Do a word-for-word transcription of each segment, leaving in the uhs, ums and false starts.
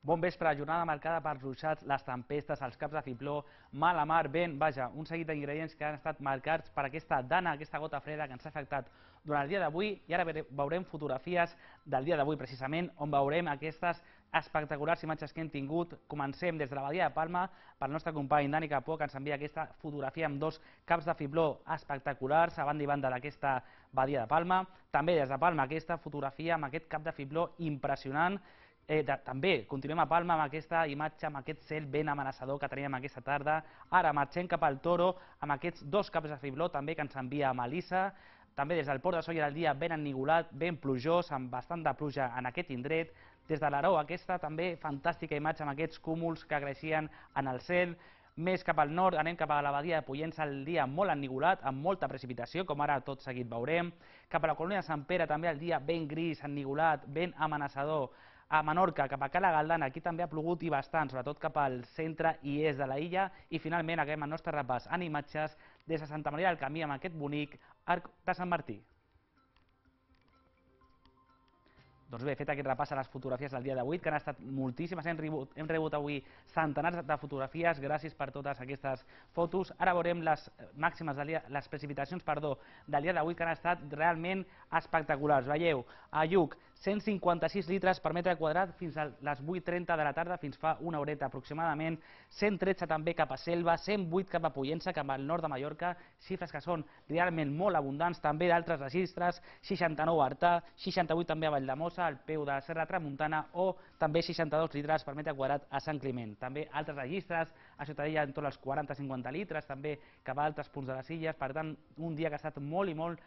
Bon vespre, jornada marcada pels ruixats, les tempestes, els caps de fibló, mala mar, vent, vaja, un seguit d'ingredients que han estat marcats per aquesta dana, aquesta gota freda que ens ha afectat durant el dia d'avui, i ara veurem fotografies del dia d'avui precisament, on veurem aquestes espectaculars imatges que hem tingut. Comencem des de la Badia de Palma pel nostre company Dani Capó, que ens envia aquesta fotografia amb dos caps de fibló espectaculars a banda i banda d'aquesta Badia de Palma. També des de Palma aquesta fotografia amb aquest cap de fibló impressionant. Eh, de, també continuem a Palma amb aquesta imatge, amb aquest cel ben amenaçador que teníem aquesta tarda. Ara marxem cap al Toro amb aquests dos caps de fibló també que ens envia Melissa. També des del Port de Sóller el dia ben ennigolat, ben plujós, amb bastant de pluja en aquest indret. Des de l'Aró aquesta també fantàstica imatge amb aquests cúmuls que creixien en el cel. Més cap al nord anem cap a la Badia de Pollença, el dia molt ennigolat, amb molta precipitació, com ara tot seguit veurem. Cap a la colònia de Sant Pere també el dia ben gris, ennigolat, ben amenaçador. A Menorca, cap a Cala Galdana, aquí també ha plogut i bastant, sobretot cap al centre i est de la illa. I finalment acabem el nostre repàs en imatges des de Santa Maria del Camí amb aquest bonic arc de Sant Martí. Doncs bé, fet aquest repàs a les fotografies del dia d'avui, que han estat moltíssimes, hem rebut, hem rebut avui centenars de fotografies, gràcies per totes aquestes fotos. Ara veurem les màximes del dia, les precipitacions, perdó, del dia d'avui, que han estat realment espectaculars. Veieu, a Lluc, cent cinquanta-sis litres per metre quadrat fins a les vuit trenta de la tarda, fins fa una horeta aproximadament, cent tretze també cap a Selva, cent vuit cap a Pollença, cap al nord de Mallorca, xifres que són realment molt abundants, també d'altres registres, seixanta-nou a Artà, seixanta-vuit també a Valldemossa, al peu de la Serra Tramuntana, o també seixanta-dos litres per metre quadrat a Sant Climent. També altres registres, a Ciutadella en torn als quaranta a cinquanta litres, també cap a altres punts de les illes. Per tant, un dia que ha estat molt i molt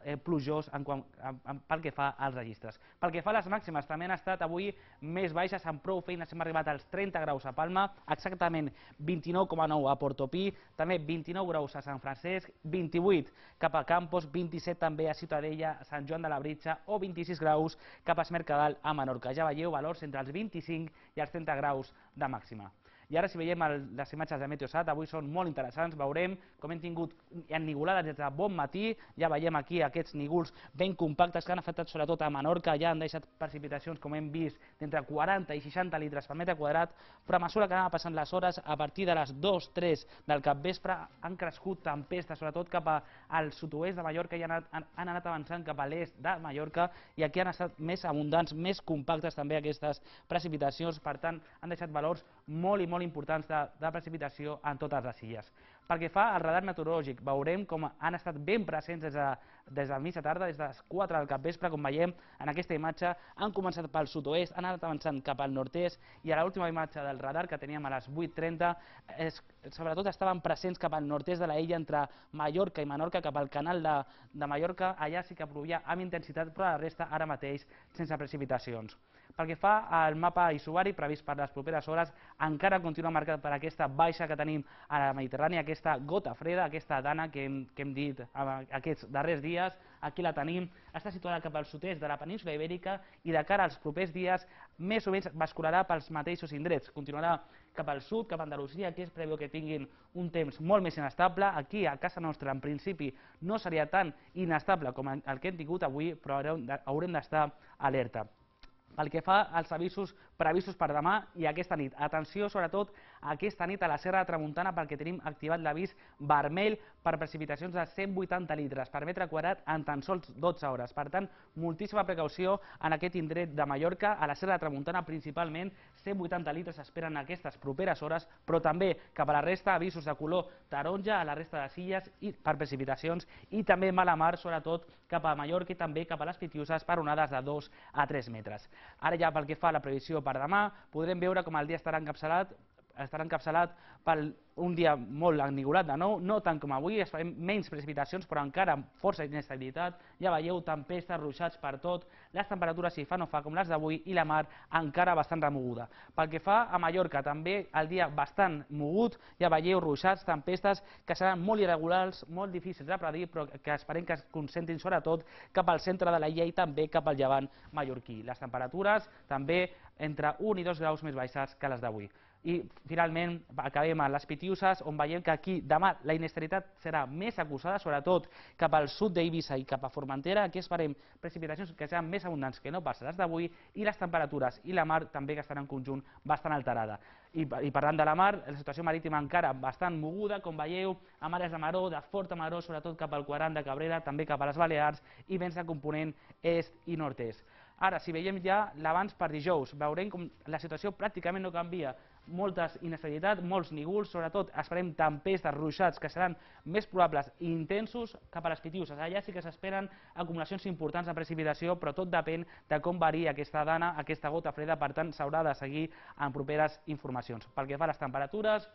eh, plujós en quant, en, en, pel que fa als registres. Pel que fa a les màximes, també han estat avui més baixes, amb prou feines hem arribat als trenta graus a Palma, exactament vint-i-nou coma nou a Portopí, també vint-i-nou graus a Sant Francesc, vint-i-vuit cap a Campos, vint-i-set també a Ciutadella, a Sant Joan de Labritja, o vint-i-sis graus cap a Es Mercadal a Menorca. Ja veieu valors entre els vint-i-cinc i els trenta graus de màxima. I ara, si veiem el, les imatges de Meteosat, avui són molt interessants. Veurem com hem tingut ennigolades des de bon matí. Ja veiem aquí aquests nígols ben compactes que han afectat sobretot a Menorca. Ja han deixat precipitacions, com hem vist, d'entre quaranta i seixanta litres per metre quadrat. Però a mesura que anaven passant les hores, a partir de les dues tres del capvespre, han crescut tempestes, sobretot cap al sud-oest de Mallorca, i han anat, han anat avançant cap a l'est de Mallorca, i aquí han estat més abundants, més compactes també aquestes precipitacions. Per tant, han deixat valors molt i molt importants de, de precipitació en totes les illes. Pel que fa al radar meteorològic, veurem com han estat ben presents des de, des del mig de tarda, des de les quatre del capvespre, com veiem en aquesta imatge. Han començat pel sud-oest, han anat avançant cap al nord-est, i a l'última imatge del radar que teníem a les vuit trenta, és, sobretot estaven presents cap al nord-est de la illa, entre Mallorca i Menorca, cap al canal de, de Mallorca. Allà sí que plovia amb intensitat, però la resta ara mateix sense precipitacions. Pel que fa al mapa isobàric previst per les properes hores, encara continua marcat per aquesta baixa que tenim a la Mediterrània, aquesta gota freda, aquesta dana que hem, que hem dit aquests darrers dies. Aquí la tenim, està situada cap al sud-est de la península Ibèrica, i de cara als propers dies més o menys bascularà pels mateixos indrets. Continuarà cap al sud, cap a Andalusia, que es preveu que tinguin un temps molt més inestable. Aquí, a casa nostra, en principi, no seria tan inestable com el que hem tingut avui, però haurem d'estar alerta. Pel que fa als avisos previstos per demà i aquesta nit, atenció sobretot aquesta nit a la Serra de Tramuntana, perquè tenim activat l'avís vermell per precipitacions de cent vuitanta litres per metre quadrat en tan sols dotze hores. Per tant, moltíssima precaució en aquest indret de Mallorca. A la Serra de Tramuntana principalment cent vuitanta litres s'esperen en aquestes properes hores, però també cap a la resta avisos de color taronja a la resta de les illes i per precipitacions, i també mala mar sobretot cap a Mallorca i també cap a les Pitiuses per onades de dos a tres metres. Ara ja pel que fa a la previsió per demà, podrem veure com el dia estarà encapçalat estarà encapçalat per un dia molt ennigolat de nou, no tant com avui, esperem menys precipitacions, però encara amb força inestabilitat. Ja veieu, tempestes, ruixats per tot, les temperatures si fa no fa com les d'avui, i la mar encara bastant remoguda. Pel que fa a Mallorca, també el dia bastant mogut, ja veieu, ruixats, tempestes, que seran molt irregulars, molt difícils de predir, però que esperem que es concentrin sobretot cap al centre de la illa i també cap al llevant mallorquí. Les temperatures també entre un i dos graus més baixes que les d'avui. I finalment acabem a les Pitiuses, on veiem que aquí demà la inestabilitat serà més acusada, sobretot cap al sud d'Eivissa i cap a Formentera. Aquí esperem precipitacions que seran més abundants que no pas les d'avui, i les temperatures i la mar també que estan en conjunt bastant alterada. I, I parlant de la mar, la situació marítima encara bastant moguda, com veieu, amb àrees de maror, de forta maror, sobretot cap al quadrant de Cabrera, també cap a les Balears, i vents de component est i nord-est. Ara, si veiem ja l'abans per dijous, veurem com la situació pràcticament no canvia. Molta inestabilitat, molts nígols, sobretot esperem tempestes, ruixats, que seran més probables i intensos cap a les Pitiuses. Allà sí que s'esperen acumulacions importants de precipitació, però tot depèn de com varia aquesta dana, aquesta gota freda, per tant s'haurà de seguir en properes informacions. Pel que fa a les temperatures,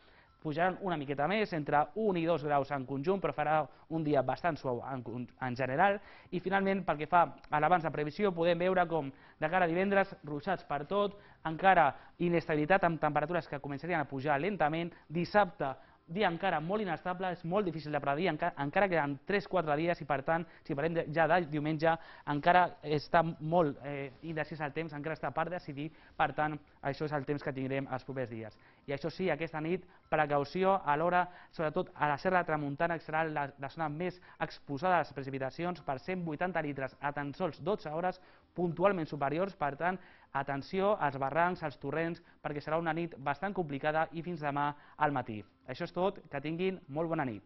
pujaran una miqueta més, entre un i dos graus en conjunt, però farà un dia bastant suau en, en general. I finalment, pel que fa a l'abans de previsió, podem veure com de cara a divendres, ruixats per tot, encara inestabilitat amb temperatures que començarien a pujar lentament. Dissabte, dia encara molt inestable, és molt difícil de predir, encara, encara queden tres quatre dies i per tant, si parlem de, ja de diumenge, encara està molt eh, indecís el temps, encara està per decidir, per tant, això és el temps que tindrem els propers dies. I això sí, aquesta nit, precaució a l'hora, sobretot a la Serra de Tramuntana, que serà la, la zona més exposada a les precipitacions, per cent vuitanta litres a tan sols dotze hores, puntualment superiors, per tant, atenció als barrancs, als torrents, perquè serà una nit bastant complicada i fins demà al matí. Això és tot, que tinguin molt bona nit.